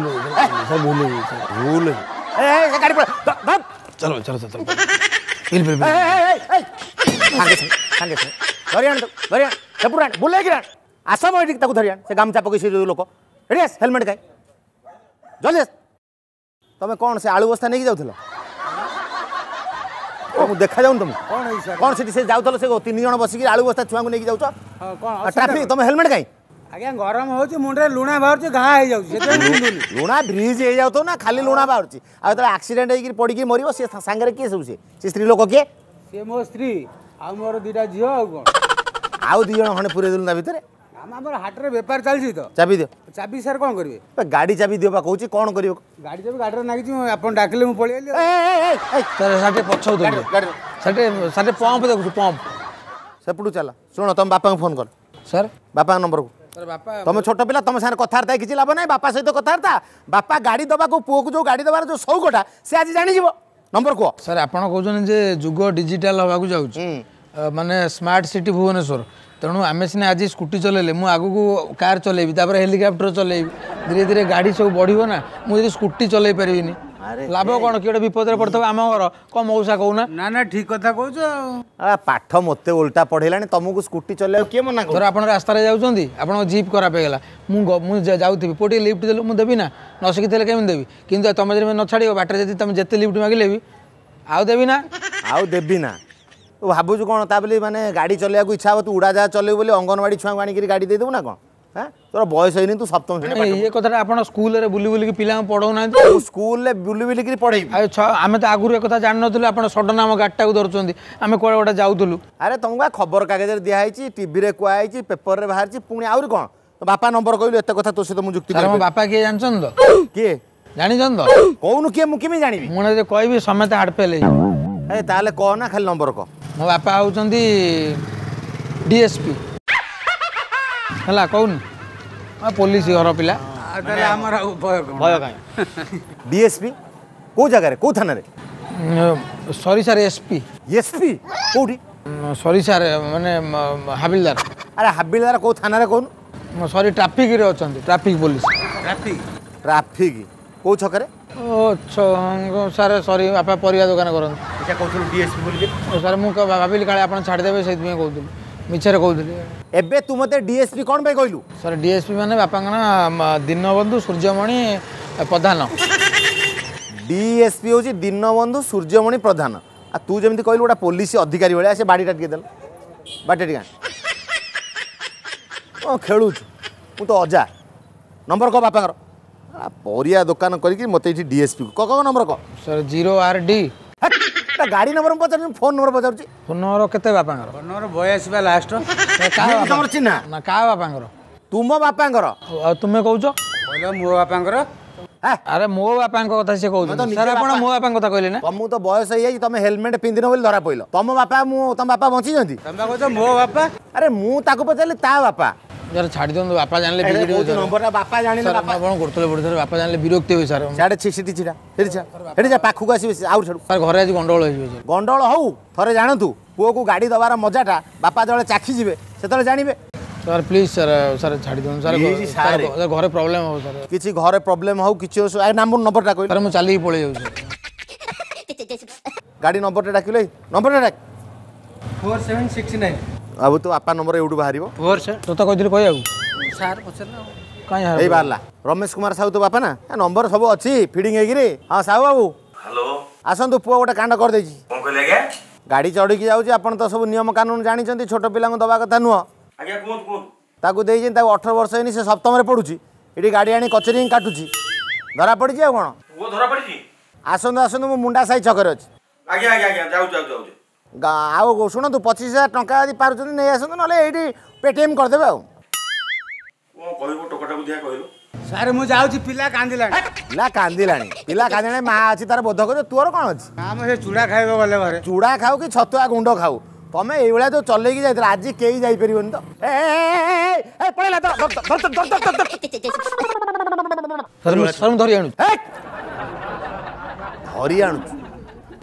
ସାର୍ ଭୁଲ ଭୁଲ ଗାଡ଼ି। ଚାଲ ଚାଲ ଚାଲ, ସାଙ୍ଗେ ସାଙ୍ଗେ ସାଙ୍ଗେ ଧରି ଆଣ, ଧରି ଆଣ, ସେପଟୁ ଆଣ, ବୁଲେଇକି ଆଣ, ଆସ ମୋ ଏଠିକି, ତାକୁ ଧରି ଆଣ। ସେ ଗାମୁଛା ପକେଇ ସେ ଯୋଉ ଲୋକ, ଏଠି ଆସ, ହେଲମେଟ୍ ଖାଇ ଜଲ୍ଦି ଆସ। ତମେ କ'ଣ ସେ ଆଳୁ ବସ୍ତା ନେଇକି ଯାଉଥିଲ? ମୁଁ ଦେଖାଯାଉନି ତମକୁ କ'ଣ ସେଠି ସେ ଯାଉଥିଲ? ସେ 3 ଜଣ ବସିକି ଆଳୁ ବସ୍ତା ଛୁଆଙ୍କୁ ନେଇକି ଯାଉଛ ଟ୍ରାଫିକ୍, ତମେ ହେଲମେଟ୍ କାଇଁ? ଆଜ୍ଞା ଗରମ ହଉଛି, ମୁଣ୍ଡରେ ଲୁଣା ବାହାରୁଛି, ଘା ହେଇଯାଉଛି। ଲୁଣା ବ୍ରିଜ୍ ହେଇଯାଉଥିବ ନା, ଖାଲି ଲୁଣା ବାହାରୁଛି। ଆଉ ଯେତେବେଳେ ଆକ୍ସିଡେଣ୍ଟ ହେଇକି ପଡ଼ିକି ମରିବ, ସେ ସାଙ୍ଗରେ କିଏ ସବୁ? ସେ ସ୍ତ୍ରୀ ଲୋକ କିଏ? ସେ ମୋ ସ୍ତ୍ରୀ ଆଉ ମୋର 2ଟା ଝିଅ। ଆଉ କ'ଣ? ଆଉ 2 ଜଣ ଖଣ୍ଡେ ପୁରେଇ ଦେଲୁ ତା ଭିତରେ। ଆମର ହାଟରେ ବେପାର ଚାଲିଛି ତ। ଚାବି ଦିଅ। ଚାବି ସାର୍ କ'ଣ କରିବେ? ଗାଡ଼ି ଚାବି ଦିଅ ବା କହୁଛି, କ'ଣ କରିବ? ଗାଡ଼ି ଚାବି ଗାଡ଼ିରେ ନାଗିଛି, ଆପଣ ଡାକିଲେ ମୁଁ ପଳେଇ ଆଇଲି। ସାର୍ ଟିକେ ପଛକୁ ସେଠି, ସାର୍ ପମ୍ପ ଦେଖୁଛୁ, ପମ୍ପ ସେପଟୁ ଚାଲ। ଶୁଣ, ତମ ବାପାଙ୍କୁ ଫୋନ୍ କର। ସାର୍ ବାପାଙ୍କ ନମ୍ବରକୁ। ତମେ ଛୋଟ ପିଲା, ତମ ସାଙ୍ଗରେ କଥାବାର୍ତ୍ତା କିଛି ଲାଭ ନାହିଁ। ବାପା ସହିତ କଥାବାର୍ତ୍ତା, ବାପା ଗାଡ଼ି ଦେବାକୁ, ପୁଅକୁ ଯୋଉ ଗାଡ଼ି ଦେବାର ଯୋଉ ସଉକଟା ସେ ଆଜି ଜାଣିଯିବ। ନମ୍ବର କୁହ। ସାର୍ ଆପଣ କହୁଛନ୍ତି ଯେ ଯୁଗ ଡିଜିଟାଲ ହେବାକୁ ଯାଉଛି, ମାନେ ସ୍ମାର୍ଟ ସିଟି ଭୁବନେଶ୍ୱର, ତେଣୁ ଆମେ ସିନା ଆଜି ସ୍କୁଟି ଚଲେଇଲେ, ମୁଁ ଆଗକୁ କାର୍ ଚଲେଇବି, ତାପରେ ହେଲିକପ୍ଟର ଚଲେଇବି, ଧୀରେ ଧୀରେ ଗାଡ଼ି ସବୁ ବଢ଼ିବ ନା। ମୁଁ ଯଦି ସ୍କୁଟି ଚଲେଇ ପାରିବିନି ଲାଭ କ'ଣ? କିଏ ଗୋଟେ ବିପଦରେ ପଡ଼ିଥିବ ଆମ ଘର, କ'ଣ ମଉସା କହୁନା? ନା ନା ଠିକ କଥା କହୁଛ। ପାଠ ମୋତେ ଓଲଟା ପଢ଼େଇଲାଣି, ତମକୁ ସ୍କୁଟି ଚଲେଇବାକୁ କିଏ ମନା? ଧର ଆପଣ ରାସ୍ତାରେ ଯାଉଛନ୍ତି, ଆପଣଙ୍କ ଜିପ୍ ଖରାପ ହେଇଗଲା, ମୁଁ ମୁଁ ଯାଉଥିବି, ପୁଅ ଟିକେ ଲିଫ୍ଟ ଦେଲୁ, ମୁଁ ଦେବି ନା? ନ ଶିଖିଥିଲେ କେମିତି ଦେବି? କିନ୍ତୁ ତମେ ଯଦି ନ ଛାଡ଼ିବ ବାଟରେ, ଯଦି ତମେ ଯେତେ ଲିଫ୍ଟ ମାଗିଲେ ବି ଆଉ ଦେବି ନା? ଆଉ ଦେବି ନା? ତୁ ଭାବୁଛୁ କ'ଣ ତା ବୋଲି ମାନେ ଗାଡ଼ି ଚଲେଇବାକୁ ଇଚ୍ଛା ହେବ, ତୁ ଉଡ଼ାଜାହାଜ ଚଲେଇବୁ ବୋଲି ଅଙ୍ଗନବାଡ଼ି ଛୁଆଙ୍କୁ ଆଣିକିରି ଗାଡ଼ି ଦେଇଦେବୁ ନା କ'ଣ? ତୋର ବୟସ ହେଇନି, ତୁ ସପ୍ତମ ଶ୍ରେଣୀ। ଇଏ କଥାଟା ଆପଣ ସ୍କୁଲରେ ବୁଲି ବୁଲିକି ପିଲାଙ୍କୁ ପଢ଼ଉନାହାନ୍ତି? ସ୍କୁଲରେ ବୁଲି ବୁଲିକିରି ପଢ଼େଇବି? ଆଉ ଆମେ ତ ଆଗରୁ ଏ କଥା ଜାଣିନଥିଲୁ, ଆପଣ ସଡନ୍ ଆମ ଗାଡ଼ିଟାକୁ ଧରୁଛନ୍ତି, ଆମେ କୁଆଡ଼େ ଗୋଟେ ଯାଉଥିଲୁ। ଆରେ ତମକୁ ବା ଖବର କାଗଜରେ ଦିଆହେଇଛି, ଟିଭିରେ କୁହାହେଇଛି, ପେପରରେ ବାହାରିଛି, ପୁଣି ଆହୁରି କ'ଣ? ତୋ ବାପା ନମ୍ବର କହିଲୁ, ଏତେ କଥା ତୋ ସହିତ ମୁଁ ଯୁକ୍ତି। ମୋ ବାପା କିଏ ଜାଣିଛନ୍ତି ତ? କିଏ ଜାଣିଛନ୍ତି ତ? କହୁନୁ କିଏ, ମୁଁ କେମିତି ଜାଣିବି? ମୁଁ ଯଦି କହିବି ସମସ୍ତେ ହାର୍ଟ ଫେଲ୍ ହେଇଯିବ। ଏ ତାହେଲେ କହ ନା, ଖାଲି ନମ୍ବର କହ। ମୋ ବାପା ହେଉଛନ୍ତି ଡିଏସ୍ପି, ହେଲା କହୁନି, ପୋଲିସ ଘର ପିଲା। ଆମର ଭୟ କାହିଁ? ଡିଏସ୍ପି କୋଉ ଜାଗାରେ, କୋଉ ଥାନାରେ? ସରି ସାର୍, ଏସ୍ପି। ଏସ୍ପି କୋଉଠି? ସରି ସାର୍, ମାନେ ହାବିଲଦାର। ଆରେ ହାବିଲଦାର କୋଉ ଥାନାରେ କହୁନୁ? ସରି, ଟ୍ରାଫିକରେ ଅଛନ୍ତି, ଟ୍ରାଫିକ ପୋଲିସ। ଟ୍ରାଫିକ ଟ୍ରାଫିକ କୋଉ ଛକରେ? ଓ ସାର୍ ସରି, ବାପା ପରିବା ଦୋକାନ କରନ୍ତି। କହୁଥିଲୁ ଡିଏସ୍ପି ବୋଲି। ସାର୍ ମୁଁ ଭାବିଲି କାଳେ ଆପଣ ଛାଡ଼ିଦେବେ, ସେଇଥିପାଇଁ କହୁଥିଲି, ମିଛରେ କହୁଥିଲି। ଏବେ ତୁ ମୋତେ ଡିଏସ୍ପି କ'ଣ ପାଇଁ କହିଲୁ? ସାର୍ ଡିଏସ୍ପି ମାନେ ବାପାଙ୍କ ନାଁ ଦୀନବନ୍ଧୁ ସୂର୍ଯ୍ୟମଣି ପ୍ରଧାନ। ଡିଏସ୍ପି ହେଉଛି ଦୀନବନ୍ଧୁ ସୂର୍ଯ୍ୟମଣି ପ୍ରଧାନ, ଆଉ ତୁ ଯେମିତି କହିଲୁ ଗୋଟେ ପୋଲିସ ଅଧିକାରୀ ଭଳିଆ। ସେ ବାଡ଼ିଟା ଟିକେ ଦେଲ, ବାଡ଼ିଟା ଟିକେ। କ'ଣ ଖେଳୁଛୁ? ମୁଁ ତ ଅଜା। ନମ୍ବର କହ ବାପାଙ୍କର। ପରିବା ଦୋକାନ କରିକି ମୋତେ ଏଇଠି ଡିଏସ୍ପି କହ, କହ ନମ୍ବର କହ। Sir 0RD। ଗାଡ଼ି ନମ୍ବର ମୁଁ ପଚାରୁଛି, ଫୋନ୍ ନମ୍ବର ପଚାରୁଛି। ଫୋନ୍ ନମ୍ବର କେତେ ବାପାଙ୍କର? ଫୋନ୍ ନମ୍ବର 82 ବା ଲାଷ୍ଟ। ତମର ଚିହ୍ନା ନା? କାହା ବାପାଙ୍କର? ତୁମ ବାପାଙ୍କର। ଆଉ ତୁମେ କହୁଛ? କହିଲ ମୋ ବାପାଙ୍କର। ଆରେ ମୋ ବାପାଙ୍କ କଥା ସେ କହୁଛନ୍ତି ସାର୍, ଆପଣ ମୋ ବାପାଙ୍କ କଥା କହିଲେ ନା? ତମକୁ ତ ବୟସ ହେଇଯାଇଛି, ତମେ ହେଲମେଟ୍ ପିନ୍ଧିନ ବୋଲି ଧରା ପଇଲ। ତମ ବାପା ମୁଁ, ତମ ବାପା ବଞ୍ଚିଛନ୍ତି? ତମେ କହୁଛ ମୋ ବାପା। ଆରେ ମୁଁ ତାକୁ ପଚାରିଲି ତା ବାପା। ସାର୍ ଛାଡ଼ି ଦିଅନ୍ତୁ, ବାପା ଜାଣିଲେ ନମ୍ବରଟା। ବାପା ଜାଣିଲେ ଆପଣ କରୁଥିଲେ ପଢୁଥିଲେ, ବାପା ଜାଣିଲେ ବିରକ୍ତି ହେବେ ସାର୍। ସିଆଡ଼େ ସେଠି ଛିଡ଼ା, ସେଠି ଛିଡ଼ା, ସେଠି ଯା, ପାଖକୁ ଆସିବେ ଆଉ ଛାଡ଼ୁ। ସାର୍ ଘରେ ଆଜି ଗଣ୍ଡଗୋଳ ହେଇଯିବ। ସାର୍ ଗଣ୍ଡଗୋଳ ହଉ, ଥରେ ଜାଣନ୍ତୁ ପୁଅକୁ ଗାଡ଼ି ଦେବାର ମଜାଟା ବାପା ଯେତେବେଳେ ଚାଖିଯିବେ ସେତେବେଳେ ଜାଣିବେ। ସାର୍ ପ୍ଲିଜ୍ ସାର୍, ସାର୍ ଛାଡ଼ି ଦିଅନ୍ତୁ ସାର୍, ଘରେ ପ୍ରୋବ୍ଲେମ୍ ହବ ସାର୍। କିଛି ଘରେ ପ୍ରୋବ୍ଲେମ୍ ହଉ କିଛି ହଉ, ନମ୍ବରଟା କହିଲୁ। ସାର୍ ମୁଁ ଚାଲିକି ପଳେଇ ଯାଉଛି। ଗାଡ଼ି ନମ୍ବରଟା ଡାକିଲେ, ନମ୍ବରଟା ଡାକ। 4769। ଆଉ ତୋ ବାପା ନମ୍ବର ଏଇଠୁ ବାହାରିବ? ତୋତେ କହିଥିଲି କହିବାକୁ ସାର୍, ପଚାରିଲେ କାଇଁ ଏଇ ବାହାରିଲା। ରମେଶ କୁମାର ସାହୁ ତୋ ବାପା ନା? ନମ୍ବର ସବୁ ଅଛି ଫିଡ଼ିଂ ହେଇକିରି। ହଁ ସାହୁ ବାବୁ, ହ୍ୟାଲୋ, ଆସନ୍ତୁ, ପୁଅ ଗୋଟେ କାଣ୍ଡ କରିଦେଇଛି। କ'ଣ କହିଲେ ଆଜ୍ଞା? ଗାଡ଼ି ଚଢ଼ିକି ଯାଉଛି। ଆପଣ ତ ସବୁ ନିୟମ କାନୁନ ଜାଣିଛନ୍ତି, ଛୋଟ ପିଲାଙ୍କୁ ଦେବା କଥା ନୁହଁ। ଆଜ୍ଞା କୁହନ୍ତୁ କୁହନ୍ତୁ। ତାକୁ ଦେଇଛନ୍ତି, ତାକୁ 18 ବର୍ଷ ହେଇନି, ସେ ସପ୍ତମରେ ପଢ଼ୁଛି, ଏଠି ଗାଡ଼ି ଆଣି କଚେରୀ କାଟୁଛି, ଧରା ପଡ଼ିଛି। ଆଉ କ'ଣ ପୁଅ ଧରା ପଡ଼ିଛି? ଆସନ୍ତୁ ଆସନ୍ତୁ, ମୁଁ ମୁଣ୍ଡା ସାହି ଛକରେ ଅଛି। ଆଜ୍ଞା ଆଜ୍ଞା ଆଜ୍ଞା, ଯାଉଛି ଯାଉଛି ଯାଉଛି। ଆଉ ଶୁଣନ୍ତୁ, 25,000 ଟଙ୍କା ଯଦି ପାରୁଛନ୍ତି ନେଇ ଆସନ୍ତୁ, ନହେଲେ ଏଇଠି ପେଟିଏମ୍ କରିଦେବେ। ଆଉ କ'ଣ କହିବୁ ଟୋକାଟାକୁ ଦିଆ କହିଲୁ? ସାର୍ ମୁଁ ଯାଉଛି, ପିଲା କାନ୍ଦିଲାଣି। ପିଲା କାନ୍ଦିଲାଣି, ପିଲା କାନ୍ଦିଲାଣି, ମା ଅଛି ତାର ବୋଧ କରିବ, ତୋର କ'ଣ ଅଛି? ଆମ ସେ ଚୁଡ଼ା ଖାଇବ ଗଲେ ଘରେ। ଚୁଡ଼ା ଖାଉ କି ଛତୁଆ ଗୁଣ୍ଡ ଖାଉ, ତମେ ଏଇଭଳିଆ ଯୋଉ ଚଲେଇକି ଯାଇଥିଲ ଆଜି କେହି ଯାଇପାରିବନି ତ। ଏ ପଳେଇଲା ତ। ସାର୍ ମୁଁ ଧରି ଆଣୁଛି। ଧରି ଆଣୁଛୁ?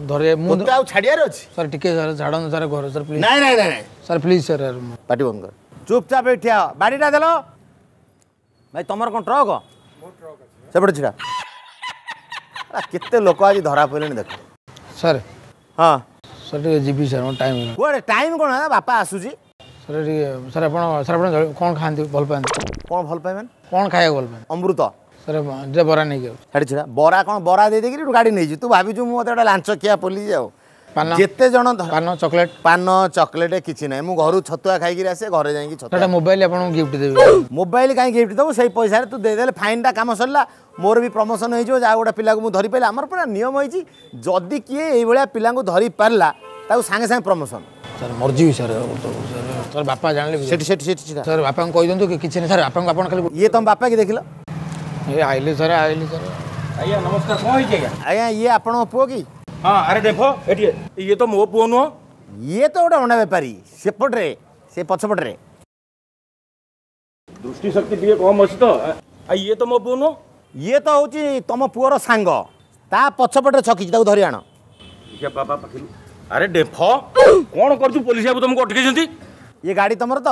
ଧରେ ମୁଁ ତୋତେ ଆଉ ଛାଡ଼ିବାର ଅଛି? ସାର୍ ଟିକେ ସାର୍ ଛାଡ଼ନ୍ତୁ ସାର୍, ଘରେ ସାର୍ ପ୍ଲିଜ୍। ନାଇଁ ନାଇଁ ନାଇଁ ସାର୍ ପ୍ଲିଜ୍ ସାର୍। ପାଟି ବନ୍ଦ କର, ଚୁପଚାପ ଏଠି ଠିଆ। ବାଡ଼ିଟା ଦେଲ ଭାଇ, ତମର କ'ଣ ଟ୍ରକ୍? ସେପଟେ ଛିଡ଼ା। କେତେ ଲୋକ ଆଜି ଧରା ପଡ଼ିଲେଣି ଦେଖ। ସାର୍ ହଁ ସାର୍ ଟିକେ ଯିବି ସାର୍, ମୋର ଟାଇମ୍। କୁଆଡ଼େ ଟାଇମ୍ କ'ଣ ହେଲା? ବାପା ଆସୁଛି। ସାର୍ ଟିକେ ସାର୍, ଆପଣ ସାର୍ ଆପଣ କ'ଣ ଖାଆନ୍ତି ଭଲ ପାଆନ୍ତି? କ'ଣ ଭଲ ପାଏ ମାନେ? କ'ଣ ଖାଇବାକୁ ଭଲ ପାଆନ୍ତି? ଅମୃତ। ସାର୍ ଯେ ବରା ନେଇକି ଯାଉଛି। ଛାଡ଼ି ଛିଡ଼ା। ବରା କ'ଣ? ବରା ଦେଇଦେଇକିରି ଗାଡ଼ି ନେଇଛି। ତୁ ଭାବିଛୁ ମୁଁ ମୋତେ ଗୋଟେ ଲାଞ୍ଚ ଖିଆ ପୋଲିସ? ଆଉ ପାନ ଯେତେ ଜଣ ପାନ ଚକୋଲେଟ୍? ପାନ ଚକୋଲେଟ୍ କିଛି ନାହିଁ, ମୁଁ ଘରୁ ଛତୁଆ ଖାଇକିରି ଆସେ, ଘରେ ଯାଇକି ଛତୁଆ। ଗୋଟେ ମୋବାଇଲ ଆପଣଙ୍କୁ ଗିଫ୍ଟ ଦେବି। ମୋବାଇଲ କାହିଁ ଗିଫ୍ଟ ଦେବୁ? ସେଇ ପଇସାରେ ତୁ ଦେଇଦେଲେ ଫାଇନ୍ଟା, କାମ ସରିଲା, ମୋର ବି ପ୍ରମୋସନ୍ ହେଇଯିବ। ଯାହା ଗୋଟେ ପିଲାକୁ ମୁଁ ଧରି ପାରିଲି, ଆମର ପୁରା ନିୟମ ହେଇଛି, ଯଦି କିଏ ଏଇଭଳିଆ ପିଲାଙ୍କୁ ଧରି ପାରିଲା ତାକୁ ସାଙ୍ଗେ ସାଙ୍ଗେ ପ୍ରମୋସନ୍। ସାର୍ ମରିଯିବି ସାର୍, ସାର୍ ବାପା ଜାଣିଲେ। ସେଠି ସେଠି ସେଠି ସାର୍ ବାପାଙ୍କୁ କହିଦିଅନ୍ତୁ କି କିଛି ନାହିଁ ସାର୍, ବାପାଙ୍କୁ ଆପଣ ଖାଲି। ଇଏ ତମ ବାପା କି ଦେଖିଲ? ଏ ଆଇଲେ ସାର୍, ଆଇଲେ ସାର୍। ଆଜ୍ଞା ନମସ୍କାର, କ'ଣ ହେଇଛି ଆଜ୍ଞା? ଆଜ୍ଞା ଇଏ ଆପଣଙ୍କ ପୁଅ କି? ହଁ। ଆରେ ଦେଖ ଏଠି, ଇଏ ତ ମୋ ପୁଅ ନୁହଁ। ଇଏ ତ ଗୋଟେ ଅଣ୍ଡା ବେପାରୀ ସେପଟରେ, ସେ ପଛପଟରେ। ଦୃଷ୍ଟି ଶକ୍ତି ଟିକେ କମ୍ ଅଛି ତ। ଇଏ ତ ମୋ ପୁଅ ନୁହଁ। ଇଏ ତ ହେଉଛି ତମ ପୁଅର ସାଙ୍ଗ, ତା ପଛପଟରେ ଛକିଛି, ତାକୁ ଧରି ଆଣ। ବାପା ପାଖରୁ। ଆରେ ଡେଫ, କ'ଣ କରୁଛୁ? ପୋଲିସ ବାବୁ ତମକୁ ଅଟକେଇଛନ୍ତି। ଇଏ ଗାଡ଼ି ତମର ତ?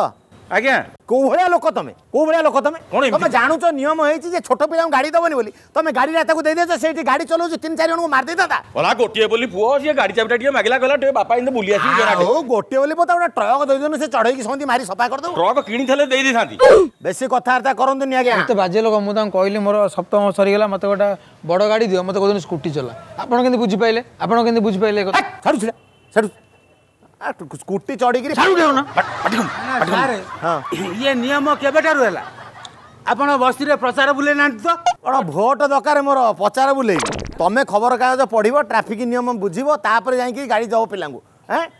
ଆଜ୍ଞା। କୋଉ ଭଳିଆ ଲୋକ ତମେ? କୋଉ ଭଳିଆ ଲୋକ ତମେ? କ'ଣ ତମେ ଜାଣୁଛ ନିୟମ ହେଇଛି ଯେ ଛୋଟ ପିଲାଙ୍କୁ ଗାଡ଼ି ଦବନି ବୋଲି, ତମେ ଗାଡ଼ିଟା ତାକୁ ଦେଇଦେଇଛ, ସେଇଠି ଗାଡ଼ି ଚଲାଉଛି, 3 4 ଜଣଙ୍କୁ ମାରି ଦେଇଥାନ୍ତା। ଗଲା ଗୋଟିଏ ବୋଲି ପୁଅ, ସିଏ ଗାଡ଼ି ଚାବିଟା ଟିକେ ମାଗିଲା, କହିଲା ଟିକେ ବାପା ଏମିତି ବୁଲି ଆସିବି। ହଉ ଗୋଟିଏ ବୋଲି ପୁଅ, ଗୋଟେ ଟ୍ରକ୍ ଦେଇଦେଉନୁ, ସେ ଚଢ଼େଇକି ସେମିତି ମାରି ସଫା କରିଦେବୁ। ଟ୍ରକ୍ କିଣିଥିଲେ ଦେଇ ଦେଇଥାନ୍ତି। ବେଶୀ କଥାବାର୍ତ୍ତା କରନ୍ତୁନି ଆଜ୍ଞା। ଏତେ ବାଜେ ଲୋକ। ମୁଁ ତାଙ୍କୁ କହିଲି ମୋର ସପ୍ତମ ସରିଗଲା, ମୋତେ ଗୋଟେ ବଡ଼ ଗାଡ଼ି ଦିଅ, ମୋତେ କହୁଛନ୍ତି ସ୍କୁଟି ଚଲା। ଆପଣ କେମିତି ବୁଝିପାରିଲେ? ଆପଣ କେମିତି ବୁଝିପାରିଲେ? ଛାଡ଼ୁଛି ଛାଡ଼ୁ, ସ୍କୁଟି ଚଢ଼ିକିରି। ଇଏ ନିୟମ କେବେଠାରୁ ହେଲା? ଆପଣ ବସ୍ତିରେ ପ୍ରଚାର ବୁଲେଇ ନାହାନ୍ତି ତ? କ'ଣ ଭୋଟ ଦରକାର ମୋର ପ୍ରଚାର ବୁଲେଇବି? ତମେ ଖବରକାଗଜ ପଢ଼ିବ, ଟ୍ରାଫିକ୍ ନିୟମ ବୁଝିବ, ତାପରେ ଯାଇକି ଗାଡ଼ି ଦେବ ପିଲାଙ୍କୁ।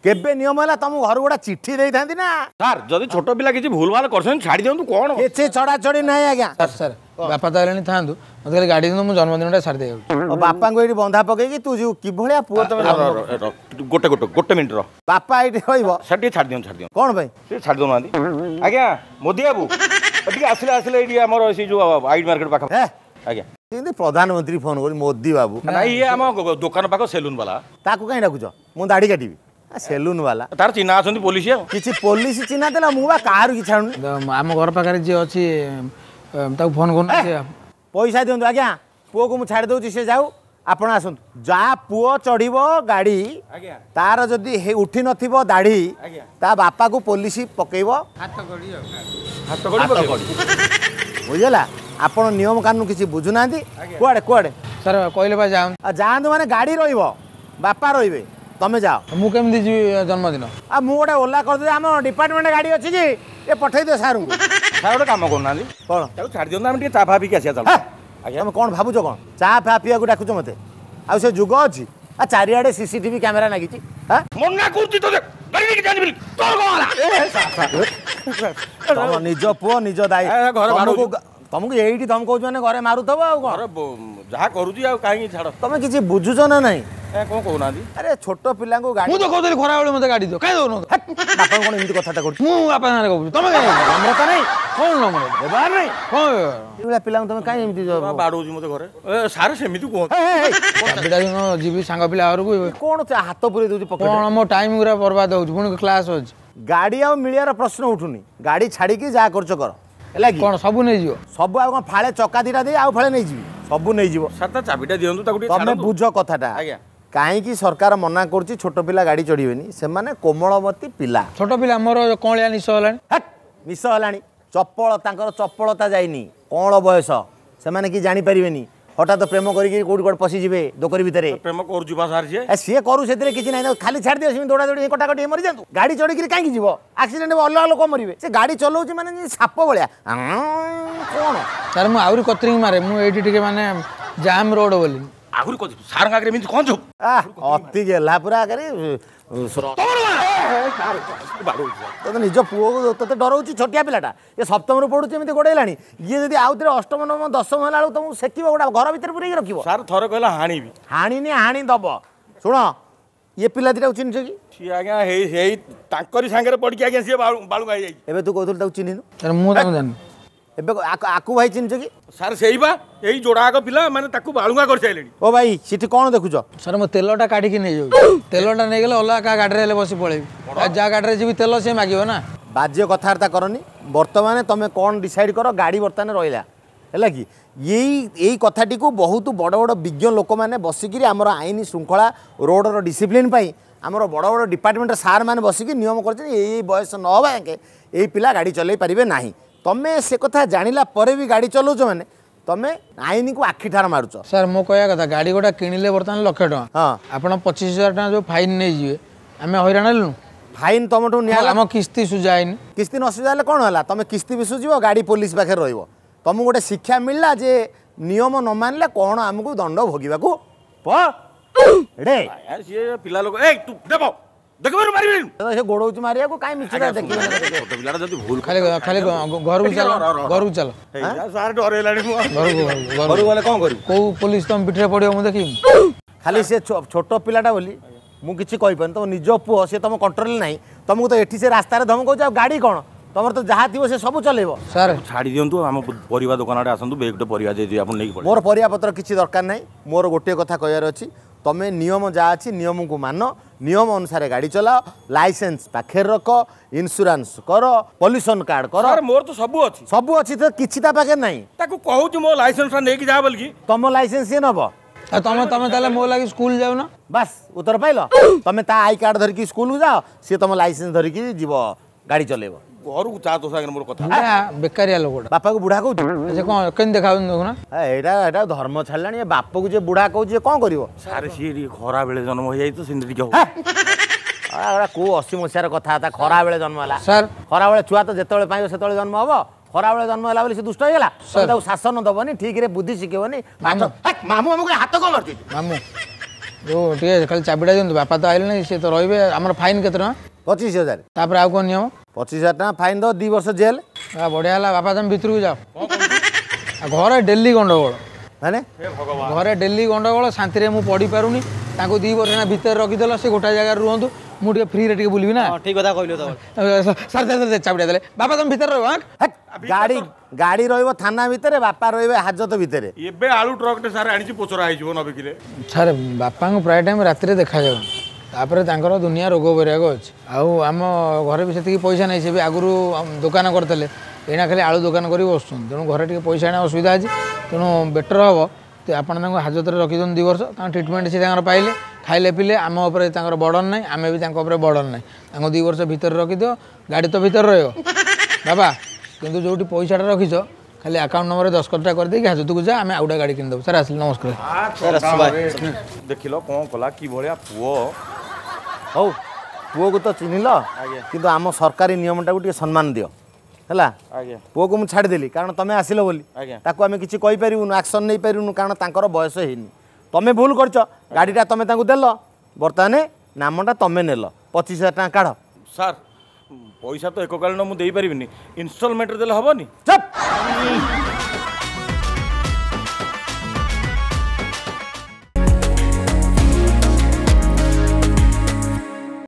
କେବେ ନିୟମ ହେଲା? ତମ ଘରୁ ଗୋଟେ ଚିଠି ଦେଇଥାନ୍ତି ନା। ସାର୍ ଯଦି ଛୋଟ ପିଲା କିଛି ଭୁଲ ଭାଲ କରିଛନ୍ତି ଛାଡ଼ି ଦିଅନ୍ତୁ। କ'ଣ କିଛି ଛଡ଼ାଛଡ଼ି ନାହିଁ ଆଜ୍ଞା। ସାର୍ ସାର୍ ବାପା ତ ହେଲେଣି, ଥାଆନ୍ତୁ, ମୋତେ ଖାଲି ଗାଡ଼ି ଦିଅନ୍ତୁ, ମୁଁ ଜନ୍ମଦିନଟା ସାରି ଦେଇଯାଉଛି। ବାପାଙ୍କୁ ଏଇଠି ବନ୍ଧା ପକେଇକି ତୁ ଯିବୁ? କିଭଳିଆ ପୁଅ ତମେ? ଗୋଟେ ଗୋଟେ ଗୋଟେ ମିନିଟ୍ ର, ବାପା ଏଇଠି ରହିବ। ସାର୍ ଟିକେ ଛାଡ଼ି ଦିଅନ୍ତୁ, ଛାଡ଼ି ଦିଅନ୍ତୁ। କ'ଣ ପାଇଁ ସେ ଛାଡ଼ି ଦେଉନାହାନ୍ତି? ଆଜ୍ଞା ମୋଦି ବାବୁ ଟିକେ ଆସିଲେ, ଆସିଲେ ଏଇଠି ଆମର ସେଇ ଯୋଉ ଆଇଡ୍ ମାର୍କେଟ ପାଖ। ଆଜ୍ଞା। ଯେମିତି ପ୍ରଧାନମନ୍ତ୍ରୀ ଫୋନ କରୁଛି ମୋଦି ବାବୁ। ନାଇଁ ଇଏ ଆମ ଦୋକାନ ପାଖ ସେଲୁନ ବାଲା। ତାକୁ କାହିଁ ଡାକୁଛ? ମୁଁ ଦାଢ଼ି କାଟିବି। ସେଲୁନ ବାଲା ତାର ଚିହ୍ନା ଅଛନ୍ତି ପୋଲିସ। ଆଉ କିଛି ପୋଲିସ ଚିହ୍ନା ଥିଲା? ମୁଁ ବା କାହାରୁ କିଛି ଛାଡୁନି। ଆମ ଘର ପାଖରେ ଯିଏ ଅଛି ତାକୁ ଫୋନ କରୁନ। ପଇସା ଦିଅନ୍ତୁ ଆଜ୍ଞା, ପୁଅକୁ ମୁଁ ଛାଡ଼ି ଦେଉଛି, ସେ ଯାଉ, ଆପଣ ଆସନ୍ତୁ। ଯାହା ପୁଅ ଚଢ଼ିବ ଗାଡ଼ି, ତାର ଯଦି ଉଠି ନଥିବ ଦାଢ଼ି, ତା ବାପାକୁ ପୋଲିସ ପକେଇବ ହାତ କଡ଼ି। ବୁଝିଲା? ଆପଣ ନିୟମ କାନୁନ କିଛି ବୁଝୁନାହାନ୍ତି। କୁଆଡ଼େ କୁଆଡ଼େ? ସାର୍ କହିଲେ ବା ଯାଆନ୍ତୁ। ଯାଆନ୍ତୁ ମାନେ ଗାଡ଼ି ରହିବ, ବାପା ରହିବେ, ତମେ ଯାଅ। ମୁଁ କେମିତି ଯିବି ଜନ୍ମଦିନ? ଆଉ ମୁଁ ଗୋଟେ ଓଲା କରିଦେବି, ଆମ ଡିପାର୍ଟମେଣ୍ଟ ଗାଡ଼ି ଅଛି କି, ଏ ପଠେଇ ଦିଅ ସାର୍ଙ୍କୁ। ସାର୍ ଗୋଟେ କାମ କରୁନାହାନ୍ତି? କ'ଣ? ତାକୁ ଛାଡ଼ି ଦିଅନ୍ତୁ, ଆମେ ଟିକେ ଚା ଫା ପିଇକି ଆସିବା। ଚାଲ ଆଜ୍ଞା। ତମେ କ'ଣ ଭାବୁଛ? କ'ଣ ଚା ଫା ପିଇବାକୁ ଡାକୁଛ ମୋତେ? ଆଉ ସେ ଯୁଗ ଅଛି? ଆଉ ଚାରିଆଡ଼େ ସିସିଟିଭି କ୍ୟାମେରା ଲାଗିଛି। ମନା କରୁଛି ତୋତେ ଗାଡ଼ି ନେଇକି ଯାଆନି ବୋଲି, ତୋର କ'ଣ ହେଲା? ତମ ନିଜ ପୁଅ ନିଜ ଦାୟୀ। ତମକୁ ଏଇଠି ଧମକଉଛି ମାନେ ଘରେ ମାରୁଥିବ। ଆଉ କ'ଣ ଯାହା କରୁଛି ଆଉ କାହିଁକି ଛାଡ଼। ତମେ କିଛି ବୁଝୁଛ ନା ନାହିଁ? କ'ଣ କହୁନାହାନ୍ତି? ଆରେ ଛୋଟ ପିଲାଙ୍କୁ ଗାଡ଼ି। ମୁଁ ତ କହୁଥିଲି ଖରାବେଳେ ମୋତେ ଗାଡ଼ି ଦିଅ, କାହିଁ ଦଉନ? ବାପା କ'ଣ ଏମିତି କଥାଟା କରୁଛୁ? ମୁଁ ବାପା ସାଙ୍ଗରେ କହୁଛି, ତମେ କାହିଁ? ନମ୍ରତା ନାହିଁ, କ'ଣ ନମ୍ରତା? ବ୍ୟବହାର ନାହିଁ। କ'ଣ ଏଇଭଳିଆ ପିଲାଙ୍କୁ ତମେ କାହିଁ ଏମିତି ବାଡ଼ଉଛି ମୋତେ ଘରେ? ସାର୍ ସେମିତି କୁହନ୍ତୁ। ଚାବିଟା ଦିନ ଯିବି ସାଙ୍ଗ ପିଲା ଘରକୁ। କ'ଣ ହାତ ପୁରେଇ ଦଉଛି? କ'ଣ ମୋ ଟାଇମ୍ ଗୁରା ବର୍ବାଦ ହେଉଛି, ପୁଣି କ୍ଲାସ୍ ଅଛି। ଗାଡ଼ି ଆଉ ମିଳିବାର ପ୍ରଶ୍ନ ଉଠୁନି, ଗାଡ଼ି ଛାଡ଼ିକି ଯାହା କରୁଛ କର। ହେଲା କି? କ'ଣ ସବୁ ନେଇଯିବ? ସବୁ ଆଉ କ'ଣ? ଫାଳେ ଚକା ଦିଟା ଦେଇ ଆଉ ଫାଳେ ନେଇଯିବି, ସବୁ ନେଇଯିବ। ସାର୍ ତା ଚାବିଟା ଦିଅନ୍ତୁ ତାକୁ ଟିକେ। ତମେ ବୁଝ କଥାଟା ଆଜ୍ଞା, କାହିଁକି ସରକାର ମନା କରୁଛି ଛୋଟ ପିଲା ଗାଡ଼ି ଚଢ଼ିବେନି? ସେମାନେ କୋମଳମତି ପିଲା। ଛୋଟ ପିଲା ମୋର କଅଁଳିଆ ନିଶ ହେଲାଣି। ନିଶ ହେଲାଣି, ଚପଳ ତାଙ୍କର ଚପଳତା ଯାଇନି, କଅଁଳ ବୟସ, ସେମାନେ କି ଜାଣିପାରିବେନି। ହଠାତ୍ ପ୍ରେମ କରିକି କୋଉଠି କୁଆଡ଼େ ପଶିଯିବେ ଦୋକରି ଭିତରେ। ପ୍ରେମ କରୁଛି ବା ସାର୍ ସିଏ। ସିଏ କରୁ, ସେଥିରେ କିଛି ନାହିଁ, ଖାଲି ଛାଡ଼ି ଦିଅ, ସେମିତି ଦୌଡ଼ା ଦୌଡ଼ି କଟାକଟି ହେଇ ମରିଯାଆନ୍ତୁ। ଗାଡ଼ି ଚଢ଼ିକିରି କାହିଁକି ଯିବ? ଆକ୍ସିଡେଣ୍ଟ ହେବ, ଅଲଗା ଲୋକ ମରିବେ। ସେ ଗାଡ଼ି ଚଲାଉଛି ମାନେ ସାପ ଭଳିଆ କ'ଣ? ସାର୍ ମୁଁ ଆହୁରି କତରିଙ୍ଗ ମାରେ, ମୁଁ ଏଇଠି ଟିକେ ମାନେ ଜାମ୍ ରୋଡ଼ ବୋଲି ଆହୁରି ସାର୍ଙ୍କ ଆଗରେ ଏମିତି କ'ଣ? ଅତି ଗେଲା ପୁରା ଆଗରେ ତୋତେ ନିଜ ପୁଅକୁ ତୋତେ ଡରଉଛି। ଛୋଟିଆ ପିଲାଟା ଏ, ସପ୍ତମରୁ ପଢୁଛି, ଏମିତି ଗୋଡ଼େଇଲାଣି। ଇଏ ଯଦି ଆଉ ଥରେ ଅଷ୍ଟମ, ନବମ, ଦଶମ ହେଲା ବେଳକୁ ତମକୁ ସେକିବ, ଗୋଟା ଘର ଭିତରେ ପୁରେଇକି ରଖିବ। ସାର୍ ଥରେ କହିଲା ହାଣିବି। ହାଣିନି, ହାଣି ଦବ। ଶୁଣ, ଇଏ ପିଲା ଦିଟାକୁ ଚିହ୍ନିଛ କି? ସିଏ ଆଜ୍ଞା ହେଇ ହେଇ ତାଙ୍କରି ସାଙ୍ଗରେ ପଡ଼ିକି ଆଜ୍ଞା ସିଏ ବାଳୁଙ୍ଗା ହେଇଯାଇଛି। ଏବେ ତୁ କହୁଥିଲୁ ତାକୁ ଚିହ୍ନିନୁ? ସାର୍ ମୁଁ ତାକୁ ଜାଣିନି। ଏବେ ଆକୁ ଭାଇ ଚିହ୍ନିଛ କି? ସାର୍ ସେଇ ବା ଏଇ ଯୋଡ଼ା ଆଗ ପିଲା ମାନେ ତାକୁ ବାଳୁଙ୍ଗା କରିସାରିଲେଣି। ଓ ଭାଇ, ସେଠି କ'ଣ ଦେଖୁଛ? ସାର୍ ମୁଁ ତେଲଟା କାଢ଼ିକି ନେଇଯାଉଛି। ତେଲଟା ନେଇଗଲେ ଅଲଗା କାହା ଗାଡ଼ିରେ ହେଲେ ବସି ପଳେଇବି, ଆଉ ଯାହା ଗାଡ଼ିରେ ଯିବି ତେଲ ସିଏ ମାଗିବ ନା। ବାଜ୍ୟ କଥାବାର୍ତ୍ତା କରନି। ବର୍ତ୍ତମାନ ତମେ କ'ଣ ଡିସାଇଡ୍ କର? ଗାଡ଼ି ବର୍ତ୍ତମାନ ରହିଲା, ହେଲା କି? ଏଇ କଥାଟିକୁ ବହୁତ ବଡ଼ ବଡ଼ ବିଜ୍ଞ ଲୋକମାନେ ବସିକିରି ଆମର ଆଇନ ଶୃଙ୍ଖଳା, ରୋଡ଼ର ଡିସିପ୍ଲିନ୍ ପାଇଁ ଆମର ବଡ଼ ବଡ଼ ଡିପାର୍ଟମେଣ୍ଟର ସାର୍ ମାନେ ବସିକି ନିୟମ କରିଛନ୍ତି, ଏଇ ବୟସ ନ ହେବା ଯାକେ ଏଇ ପିଲା ଗାଡ଼ି ଚଲେଇ ପାରିବେ ନାହିଁ। ତମେ ସେ କଥା ଜାଣିଲା ପରେ ବି ଗାଡ଼ି ଚଲାଉଛ, ମାନେ ତମେ ଆଇନକୁ ଆଖି ଠାର ମାରୁଛ। ସାର୍ ମୋ କହିବା କଥା, ଗାଡ଼ି ଗୋଟା କିଣିଲେ ବର୍ତ୍ତମାନ ଲକ୍ଷେ ଟଙ୍କା। ହଁ, ଆପଣ 25,000 ଟଙ୍କା ଯେଉଁ ଫାଇନ୍ ନେଇଯିବେ, ଆମେ ହଇରାଣ ହେଲୁନୁ? ଫାଇନ୍ ତମଠୁ ନିଆ, ଆମ କିସ୍ତି ସୁଝା ହେଇନି। କିସ୍ତି ନ ସୁଝା ହେଲେ କ'ଣ ହେଲା? ତମେ କିସ୍ତି ବି ସୁଝିବ, ଗାଡ଼ି ପୋଲିସ ପାଖରେ ରହିବ। ତମକୁ ଗୋଟେ ଶିକ୍ଷା ମିଳିଲା ଯେ ନିୟମ ନ ମାନିଲେ କ'ଣ ଆମକୁ ଦଣ୍ଡ ଭୋଗିବାକୁ ପଡ଼େ। ସିଏ ପିଲା ଲୋକ, ଏଇ ତୁ ଦେବ ଦେଖିବାରୁ ମାରିବେନି, ସେ ଗୋଡଉଛି ମାରିବାକୁ। କାଇଁ ମିଛ ଦେଖିବେ? ଛୋଟ ପିଲାଟା ଯଦି ଭୁଲ ଖାଲି ଖାଲି ଘରକୁ ଚାଲ, ଘରକୁ ଚାଲ। ସାର୍ ଡରେଇଲାଣି ମୁଁ। ଘରକୁ ଘରକୁ ଗଲେ କ'ଣ କରିବୁ? କୋଉ ପୋଲିସ ତମ ପିଠିରେ ପଡ଼ିବ ମୁଁ ଦେଖିବି। ଖାଲି ସେ ଛୋଟ ପିଲାଟା ବୋଲି ମୁଁ କିଛି କହିପାରୁନି। ତମ ନିଜ ପୁଅ, ସେ ତମ କଣ୍ଟ୍ରୋଲରେ ନାହିଁ। ତମକୁ ତ ଏଠି ସେ ରାସ୍ତାରେ ଧମକଉଛି, ଆଉ ଗାଡ଼ି କ'ଣ? ତମର ତ ଯାହା ଥିବ ସେ ସବୁ ଚଲେଇବ। ସାର୍ ଛାଡ଼ି ଦିଅନ୍ତୁ, ଆମ ପରିବା ଦୋକାନ ଆଡ଼େ ଆସନ୍ତୁ, ବେଗ୍ ଗୋଟେ ପରିବା ଦେଇଦେବି, ଆପଣ ନେଇକି ପଳେଇବେ। ମୋର ପରିବା ପତ୍ର କିଛି ଦରକାର ନାହିଁ। ମୋର ଗୋଟିଏ କଥା କହିବାର ଅଛି, ତମେ ନିୟମ ଯାହା ଅଛି ନିୟମକୁ ମାନ, ନିୟମ ଅନୁସାରେ ଗାଡ଼ି ଚଲାଅ, ଲାଇସେନ୍ସ ପାଖରେ ରଖ, ଇନ୍ସୁରାନ୍ସ କର, ପଲ୍ୟୁସନ୍ କାର୍ଡ଼ କର। ସାର୍ ମୋର ତ ସବୁ ଅଛି। ସବୁ ଅଛି ତ କିଛି ତା ପାଖରେ ନାହିଁ। ତାକୁ କହୁଛି ମୋ ଲାଇସେନ୍ସଟା ନେଇକି ଯା ବୋଲିକି। ତମ ଲାଇସେନ୍ସ ସିଏ ନବ? ଆଉ ତମେ ତାହେଲେ ମୋ ଲାଗି ସ୍କୁଲ ଯାଉନ। ବାସ୍, ଉତ୍ତର ପାଇଲ। ତମେ ତା I card ଧରିକି ସ୍କୁଲକୁ ଯାଅ, ସିଏ ତମ ଲାଇସେନ୍ସ ଧରିକି ଯିବ, ଗାଡ଼ି ଚଲେଇବ। ଘରକୁ ଚା, ତୋ ସାଙ୍ଗରେ ମୋର କଥା। ବୁଢ଼ା ବେକାରିଆ ଲୋକଟା। ବାପାକୁ ବୁଢ଼ା କହୁଛୁ? ସେ କ'ଣ କେମିତି ଦେଖାଯାଉଛନ୍ତି ଦେଖୁନା। ଏଇଟା ଧର୍ମ ଛାଡ଼ିଲାଣି। ଏ ବାପକୁ ଯେ ବୁଢ଼ା କହୁଛି, କ'ଣ କରିବ? ସାର୍ ସିଏ ଟିକେ ଖରା ବେଳେ ଜନ୍ମ ହେଇଯାଇଛି ତ ସେମିତି ଟିକେ ହବ। ଏଗୁଡ଼ା କୋଉ 80 ମସିହାର କଥାବାର୍ତ୍ତା? ଖରାବେଳେ ଜନ୍ମ ହେଲା? ସାର୍ ଖରାବେଳେ ଛୁଆ ତ ଯେତେବେଳେ ପାଇବ ସେତେବେଳେ ଜନ୍ମ ହବ। ଖରାବେଳେ ଜନ୍ମ ହେଲା ବୋଲି ସେ ଦୁଷ୍ଟ ହେଇଗଲା? ତମେ ତାକୁ ଶାସନ ଦବନି, ଠିକରେ ବୁଦ୍ଧି ଶିଖେଇବନି? ମାମୁଁ ଆମକୁ ହାତ କ'ଣ ମାରୁଛି? ମାମୁଁ ଯୋଉ ଟିକେ ଖାଲି ଚାବିଟା ଦିଅନ୍ତୁ, ବାପା ତ ଆଇଲେଣି, ସିଏ ତ ରହିବେ। ଆମର ଫାଇନ୍ କେତେ ଟଙ୍କା? 25,000। ତାପରେ ଆଉ କ'ଣ ନିୟମ? 25,000 ଟଙ୍କା ଫାଇନ୍ ଦବ, 2 ବର୍ଷ ଜେଲ୍। ବଢ଼ିଆ ହେଲା। ବାପା ତମେ ଭିତରକୁ ଯାଅ। ଆଉ ଘରେ ଡେଲି ଗଣ୍ଡଗୋଳ। ମାନେ ଘରେ ଡେଲି ଗଣ୍ଡଗୋଳ, ଶାନ୍ତିରେ ମୁଁ ପଢ଼ିପାରୁନି। ତାଙ୍କୁ 2 ବର୍ଷ ଭିତରେ ରଖିଦେଲ, ସେ ଗୋଟାଏ ଜାଗାରେ ରୁହନ୍ତୁ, ମୁଁ ଟିକେ ଫ୍ରିରେ ଟିକେ ବୁଲିବି ନା। ଠିକ କଥା କହିଲୁ ତ। ସାର୍ ଚାବିଟା ଦେଲେ। ବାପା ତମେ ଭିତରେ ରହିବ। ଗାଡ଼ି ରହିବ ଥାନା ଭିତରେ, ବାପା ରହିବେ ହାଜତ ଭିତରେ। ଏବେ ଆଳୁ ଟ୍ରକଟେ ସାର୍ ଆଣିଛି, ପୋଚରା ହେଇଯିବ ନ ବିକିଲେ। ସାର୍ ବାପାଙ୍କୁ ପ୍ରାୟ ଟାଇମ୍ ରାତିରେ ଦେଖାଯାଉନି, ତାପରେ ତାଙ୍କର ଦୁନିଆ ରୋଗ ବୈରାଗ ଅଛି, ଆଉ ଆମ ଘରେ ବି ସେତିକି ପଇସା ନାହିଁ। ସେ ବି ଆଗରୁ ଦୋକାନ କରିଥିଲେ, ଏଇନା ଖାଲି ଆଳୁ ଦୋକାନ କରି ବସୁଛନ୍ତି। ତେଣୁ ଘରେ ଟିକେ ପଇସା ଆଣିବା ଅସୁବିଧା ଅଛି। ତେଣୁ ବେଟର୍ ହେବ ଆପଣ ତାଙ୍କୁ ହାଜତରେ ରଖିଦିଅନ୍ତୁ 2 ବର୍ଷ। ତାଙ୍କ ଟ୍ରିଟମେଣ୍ଟ ସେ ତାଙ୍କର ପାଇଲେ, ଖାଇଲେ ପିଇଲେ, ଆମ ଉପରେ ତାଙ୍କର ବର୍ଡ଼ନ୍ ନାହିଁ, ଆମେ ବି ତାଙ୍କ ଉପରେ ବର୍ଡ଼ନ୍ ନାହିଁ। ତାଙ୍କୁ 2 ବର୍ଷ ଭିତରେ ରଖିଦିଅ, ଗାଡ଼ି ତ ଭିତରେ ରହିବ ବାବା, କିନ୍ତୁ ଯେଉଁଠି ପଇସାଟା ରଖିଛ ଖାଲି ଆକାଉଣ୍ଟ ନମ୍ବରରେ ଦସ୍ତଖତଟା କରିଦେଇକି ହାଜତକୁ ଯା, ଆମେ ଆଉ ଗୋଟେ ଗାଡ଼ି କିଣିଦେବୁ। ସାର୍ ଆସିଲି, ନମସ୍କାର। ଦେଖିଲ କ'ଣ କଲା, କି ଭଳିଆ ପୁଅ। ହଉ, ପୁଅକୁ ତ ଚିହ୍ନିଲ, କିନ୍ତୁ ଆମ ସରକାରୀ ନିୟମଟାକୁ ଟିକେ ସମ୍ମାନ ଦିଅ, ହେଲା? ପୁଅକୁ ମୁଁ ଛାଡ଼ିଦେଲି କାରଣ ତମେ ଆସିଲ ବୋଲି। ତାକୁ ଆମେ କିଛି କହିପାରିବୁନୁ, ଆକ୍ସନ୍ ନେଇପାରିବୁନୁ, କାରଣ ତାଙ୍କର ବୟସ ହେଇନି। ତମେ ଭୁଲ କରିଛ, ଗାଡ଼ିଟା ତମେ ତାଙ୍କୁ ଦେଲ, ବର୍ତ୍ତମାନ ନାମଟା ତମେ ନେଲ। 25,000 ଟଙ୍କା କାଢ଼। ସାର୍ ପଇସା ତ ଏକକାଳୀନ ମୁଁ ଦେଇପାରିବିନି, ଇନଷ୍ଟଲମେଣ୍ଟରେ ଦେଲେ ହେବନି? ଚୁପ୍।